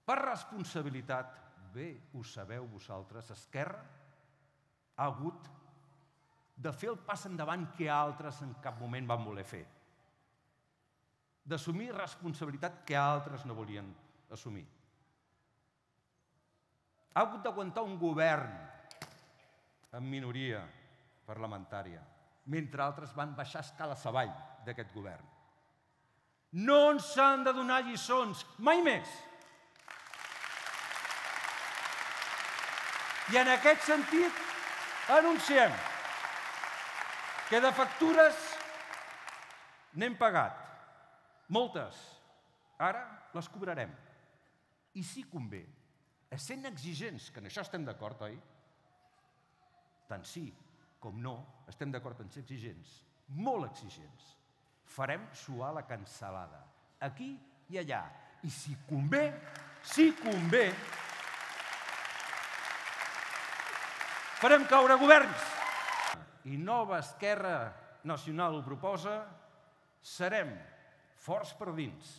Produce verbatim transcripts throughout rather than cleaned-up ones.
Per responsabilitat, bé ho sabeu vosaltres, Esquerra ha hagut de fer el pas endavant que altres en cap moment van voler fer, d'assumir responsabilitat que altres no volien assumir. Ha hagut d'aguantar un govern en minoria parlamentària, mentre altres van baixar escales avall d'aquest govern. No ens han de donar lliçons, mai més. I en aquest sentit anunciem que de factures n'hem pagat, moltes. Ara les cobrarem. I si convé, essent exigents, que en això estem d'acord, oi? Tant sí com no, estem d'acord en ser exigents, molt exigents. Farem suar la cansalada, aquí i allà. I si convé, si convé, farem caure governs. I Nova Esquerra Nacional ho proposa, serem forts per dins.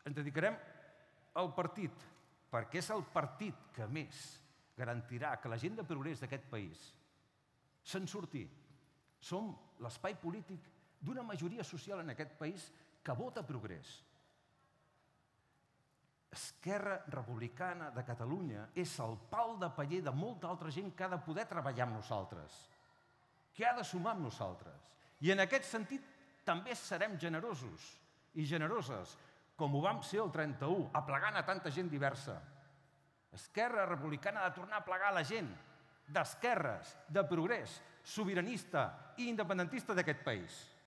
Ens dedicarem al partit, perquè és el partit que més garantirà que la gent de progrés d'aquest país se'n surti. Som l'espai polític d'una majoria social en aquest país que vota progrés. Esquerra Republicana de Catalunya és el pal de paller de molta altra gent que ha de poder treballar amb nosaltres, que ha de sumar amb nosaltres. I en aquest sentit també serem generosos i generoses, com ho vam ser el trenta-u, aplegant a tanta gent diversa. Esquerra Republicana ha de tornar a plegar la gent d'esquerres, de progrés, sobiranista i independentista d'aquest país.